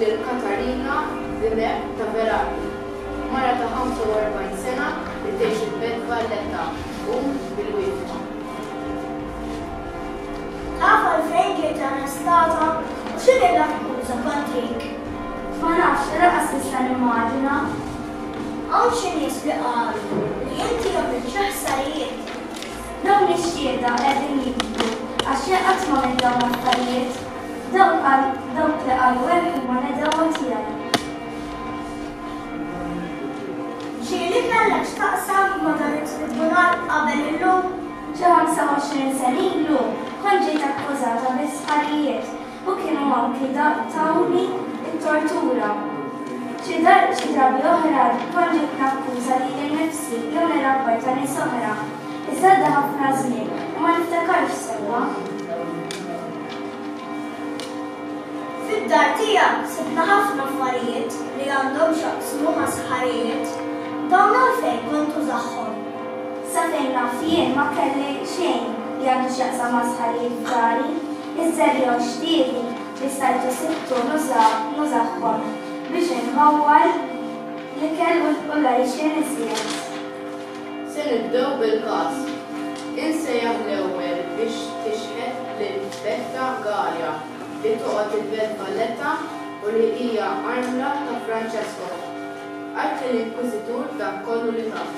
lil Katarina Dimech ta' Verardi, mara ta' 45 sena li tgħix il-Belt Valletta u bil-wieqfa. Taf għalfejn ġejt arrestata u x'inhi l-akkuża kontrik? Ma nafx, lanqas nista' nimmaġina. Hawn xi nies li qalu li inti għamilt xi ħsarijiet. Dawn ix-xhieda qegħdin jigdbu għax jien qatt m'għamilt dawn l-affarijiet. Dawk qal dawk li qalu hekk huma l-għedewwa tiegħi. Ġieli kellek x'taqsam ma' dan it-tribunal qabel illum? Xi 25 sena ilu kont ġejt akkużata bi sħarijiet u kienu anki tawni t-tortura. Xi xi drabi oħra kont ġejt nakkuża lili nnifsi jew nirrapporta nies oħra. Iżda għadda ħafna żmien u ma niftakarx sewwa. Fid-dar tiegħek sibna ħafna affarijiet li għandhom x'jaqsmu ma' sħarijiet. Dawn għalfejn kont tużahom? Sa fejn naf jien ma kelli xejn li għandu x'jaqsam ma' sħarijiet f'dari. Iż-żerriegħa u x-xtieli li stajtu sibtu nużahom biex inħawwar l-ikel u l-għajxien iżjed. Se nibdew bil-każ. Insejjaħ l-ewwel biex tixhed lil Betta Galea li toqgħod il-Belt Valletta u li hija armla ta' Francesco. Għid lill-Inkwiżitur dak kollu li taf.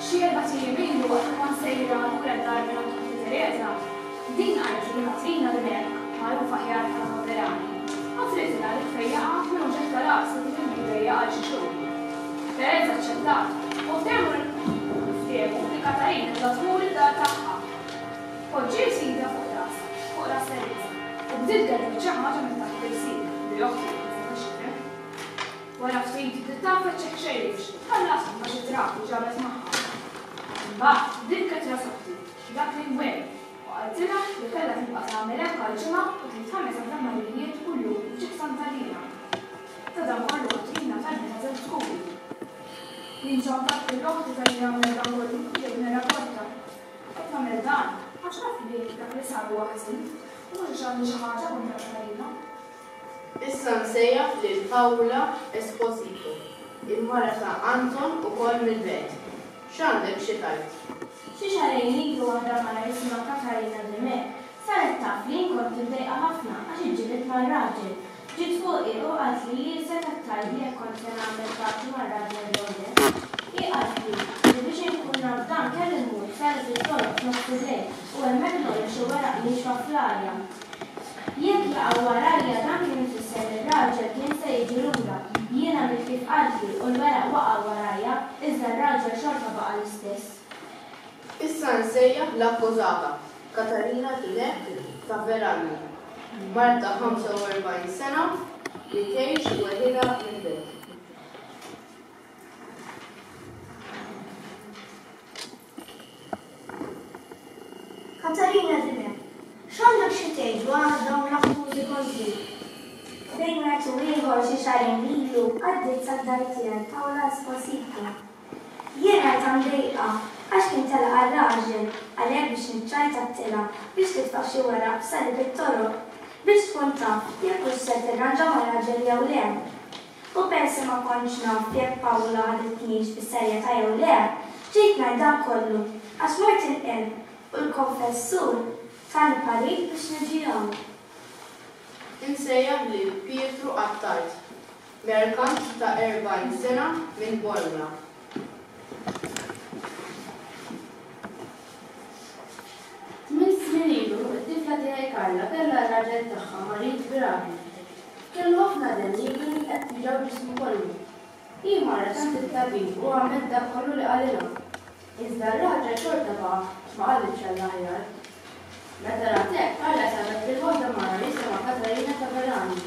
Xi erbat ijiem ilu waqt li kont sejra lura d-dar minn għand oħti Tereża, din qaltli li Katrina Dimech, magħrufa aħjar bħala Paverani, offritilha li tfejjaqha minn uġigħ ta' ras li kien ilu jdejjaqha għal xi xhur. Tereża aċċettat u ftehmu ftehmu li Katarina kellha tmur id-dar tagħha. Poġġiet idha fuq ras fuq ras Tereża u bdiet tgedwed xi ħaġa minn taħt l-ilsien li oħti ma setgħetx tifhem. Wara ftit bdiet tagħfas xi ħxejjex u tħallasthom ma' xi trab li ġabet magħha. Imbagħad dilket ras oħti b'dak l-ingwent u qaltilha li kellha tibqa' tagħmel hekk għal ġimgħa u tgħid ħames Ave Marijiet kuljum f'ġieħ Santa Liena. Ta' dan kollu Katrina talbitha żewġ skudi. Jien ċampalt lil oħti talli għamlet dan kollu u ġejt nirrapporta. Qed nagħmel dan għax naf li dak li sar huwa ħażin u mhux għax għandi xi ħaġa kontra Katarina. Issa nsejjaħ lil Paula Esposito, il-mara ta' Anton ukoll mill-Belt. X'għandek xi tgħid? Xi xahrejn ilu waħda mara jisimha Katarina Dimech saret taf li jien kont imdejqa ħafna għax iġġilidt mar-raġel. Ġiet fuqi u qaltli li hi setgħet tgħidli jekk kont se nagħmel paċi mar-raġel jew le. Hi qaltli li biex inkun naf dan kelli mmur f'salib it-toroq f'nofs il-lejl u hemmhekk ngħolli xi weraq niexfa fl-arja. Jekk jaqgħu warajja dan kien ifisser li r-raġel kien se jiġi lura. Jien għamilt kif qaltli u l-weraq waqgħu warajja, iżda r-raġel xorta baqa' l-istess. Issa nsejjaħ l-akkużata, Katarina Dimech ta' Veralli, mara ta' 45 sena li tgħix weħidha mill-Belt. Katarina Dimech, x'għandek xi tgħid dwar dawn l-akkużi kontrik? Bejn wieħed u ieħor xi xahrejn ilu għaddiet sad-dar tiegħi Paola Esposito. Jien rajtha mdejqa għax kien telaqha r-raġel, għalhekk biex niċċajta għedtilha biex titfa' xi weraq f'salib it-toroq biex tkun taf jekk hux ser tirranġa mar-raġel jew le. U peress li ma kontx naf jekk Paola ħaditnix bis-serjetà jew le, ġejt ngħid dan kollu għax mort il-qerb u l-konfessur tani parir biex niġi hawn. Insejjaħ lil Pietru Attard, merkant ta' 40 sena minn Bormla. Tmien snin ilu, it-tifla tiegħi Carla kellha r-raġel tagħha marid gravi. Kellu ħafna denji u kien qed juġgħu ġismu kollu. Hi marret għand it-tabib u għamlet dak kollu li qalilha. Iżda r-raġel xorta baqa' ma qalibx għall-aħjar. Meta rat hekk, Carla sabet lil waħda mara jisimha Katarina Taverani,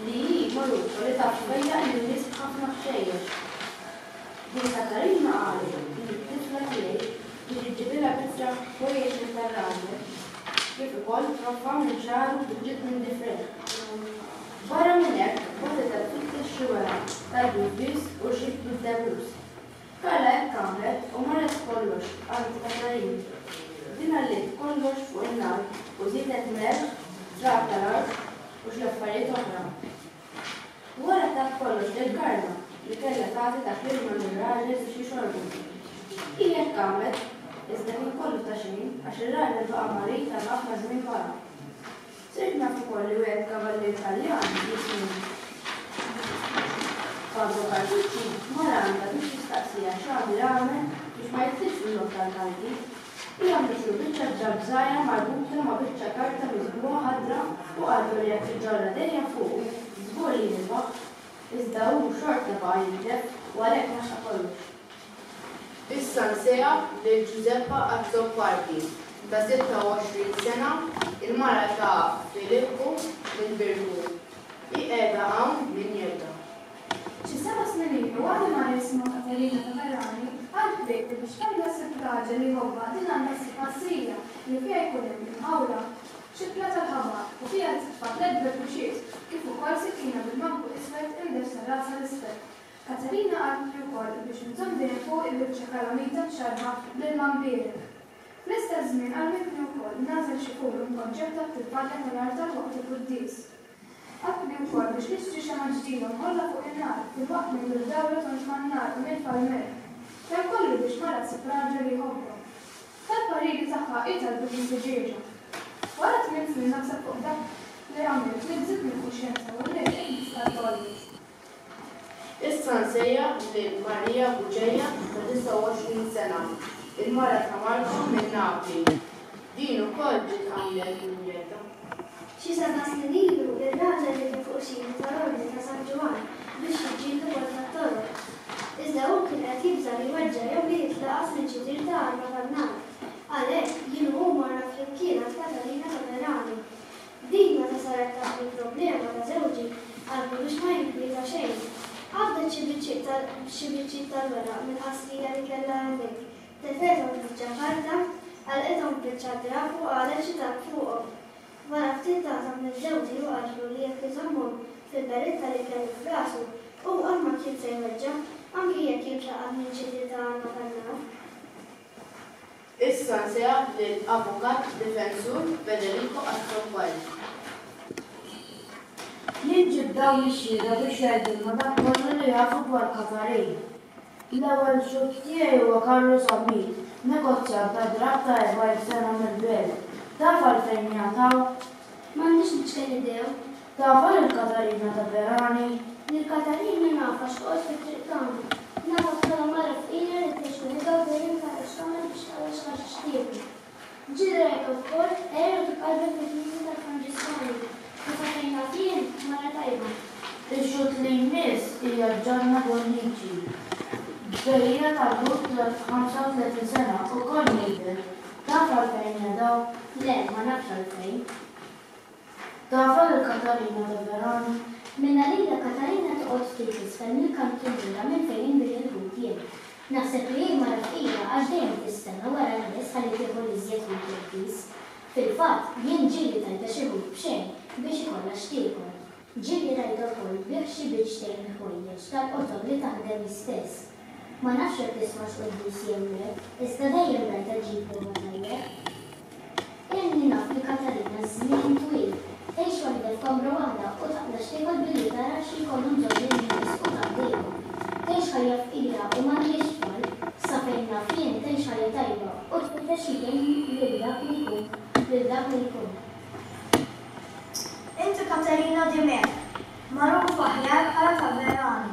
li hi magħrufa li taf tfejjaq lin-nies b'ħafna ħxejjex. Din Katarina qalet li t-tifla tiegħi biex iġġibilha biċċa ħwejjeġ minn tar-raġel, kif ukoll troffa minn xagħru b'ġid minn difrejh. Barra minn hekk, bagħtitha tfittex xi weraq tal-bużbież u xi bid-debus. Carla hekk għamlet u marret b'kollox għand Katarina. Din għalliet kollox fuq in-nar u żiedet melħ, trab tal-art u xi affarijiet oħra. Wara tat kollox lil Karla li kellha tagħti dak l-ilma lir-raġel biex jixorbu. Hi hekk għamlet, iżda kien kollu ta' xejn għax ir-raġel baqa' marid għal ħafna żmien wara. Sirt naf ukoll li wieħed kavallier Taljan jismu Fabio Carducci mar għandha biex jistaqsiha x'għandu jagħmel biex ma jitlifx fil-logħob tal-karti. Hi għamlitlu biċċa drapp żgħira marbuta ma' biċċa karta miżbugħa ħadra u qaltlu li jekk iġorrha dejjem fuqu, żgur li jirbaħ. Iżda hu xorta baqa' jitlef u għalhekk laħaq kollox. Issa nsejjaħ lil Giuseppa Azzopardi, ta' 26 sena, il-mara ta' Filippu mill-Birgu. Hi qiegħda hawn minn jeddha. Xi seba' snin ilu waħda mara jisimha Katerina Taverani qaltli li biex Karla ssib raġel li jħobbha din għandha ssib qasrija li fiha jkun hemm imħawla, xippla tal-ħabaq u fiha titfa' tlett berbuxiet kif ukoll sikkina bil-manku iswed imdeffsa rasha 'l isfel. Katerina qaltli wkoll biex inżomm dejjem fuqi biċċa kalamita mxarrba bl-ilma mbierek. Fl-istess żmien għallmitni wkoll nagħżel xi ful u npoġġih taħt il-palja tal-artal waqt il-quddies. Qaltli wkoll biex nixtri xemgħa ġdida u nħollha fuq in-nar, filwaqt li ndur dawra tond man-nar u nitfa' l-melħ. Dan kollu biex mara ssib raġel li jħobbha. Tal-pariri tagħha hi talbitni tiġieġa. Wara tminn snin naħseb fuq dak li għamilt nibżgħet mill-kuxjenza u rrid nistqarr kollox. Issa nsejjaħ lil Maria Bugeja ta' 29 sena, il-mara ta' Marco minn Napli. Din ukoll ġiet hawnhekk minn Jeddah. Xi seba' snin ilu, ir-raġel li kien fuq xini tal-Ordni ta' San Ġwann biex jiġġieldu kontra t-Torok. Iżda hu kien qed jibża' li jweġġa' jew li jitlaqas minn xi tir ta' arma tan-nar. Għalhekk, jien u hu morna flimkien għand Katarina Taverani. Din meta saret taf bil-problema ta' żewġi, qaltlu biex ma jinkwieta xejn. Qabdet xi biċċiet ta' xi biċċiet tal-weraq mill-qasrija li kellha hemmhekk, tefgħethom f'biċċa karta, għalqithom f'biċċa drapp u qalet xi talb fuqhom. Wara ftit tathom lil żewġi u qaltlu li jekk iżommhom fil-beritta li kellu f'rasu, hu qatt ma kien se jweġġa', anki jekk jintlaqat minn xi tir ta' arma tan-nar. Issa nsejjaħ lil Avukat Difensur Federico Azzopardi. Jien ġibt dawn ix-xhieda biex jgħidulna dak kollu li jafu dwar Katarin. L-ewwel xhud tiegħi huwa Carlo Zammit, negozjant tad-drapp ta' 40 sena mill-Belt. Taf għalfejn qiegħed hawn? M'għandix l-iċken idea. Tafha lil Katarina Taverani? Lil Katarina nafha x'toqgħod fit-triq tagħna. Nafha bħala mara fqira li tgħix weħidha u dejjem tara x'tagħmel biex taqla' xi ħaġa x'tiekol. Ġieli rajtha wkoll tqerr u titqarben fil-knisja tal-Franġiskani u sa fejn naf jien, mara tajba. Ix-xhud li jmiss hija Gianna Bonnici, bejjiegħa tal-ħut ta' 35 sena, ukoll mill-Belt. Taf għalfejn qiegħda hawn? Le, ma nafx għalfejn. Tafha lil Katarina Taverani? Mingħalija Katarina toqgħod ftit 'l isfel mill-kantuniera minn fejn inbigħ il-ħut jien. Naħseb li hi mara fqira għax dejjem tistenna wara n-nies ħalli tieħu l-iżjed ħut irħis. Fil-fatt, jien ġieli tajtha xi ħut b'xejn biex ikollha x'tiekol. Ġieli rajtha wkoll tbigħ xi biċċtejn ħwejjeġ tal-qoton li taħdem hi stess. Ma nafx jekk tismax quddies jew le, iżda dejjem rajtha ġġib ruħha tajjeb. Ilni naf li Katarina żmien twil. Tgħix waħidha f'kamra waħda u taqla' x'tiekol billi tara xi jkollhom bżonn in-nies u tgħaddilhom. Tgħix ħajja fqira u m'għandhiex tfal. Sa fejn naf jien tgħix ħajja tajba u tfittex li tgħin lil dak li jkun lil dak li jkun. Inti Katarina Dimech, magħrufa aħjar bħala Taverani,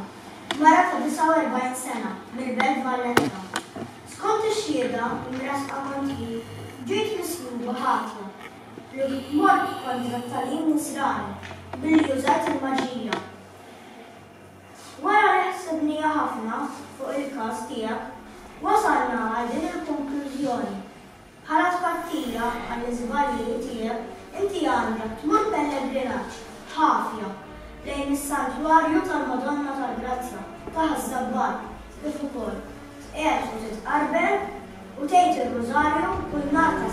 mara ta' 49 sena mill-Belt Valletta. Skont ix-xhieda mressqa kontrik, ġejt misluba ħatja li mort kontra t-tagħlim Nisrani billi użajt il-maġija. Wara li ħsibniha ħafna fuq il-każ tiegħek, wasalna għal din il-konklużjoni, Bħala tpattija għall-iżbalji tiegħek, inti għandek tmur pellegrinaġġ ħafja lejn is-Santwarju tal-Madonna tal-Grazzja ta' Ħaż-Żabbar, kif ukoll tqiegħed u titqarben u tgħid ir-Rużarju kull nhar ta'.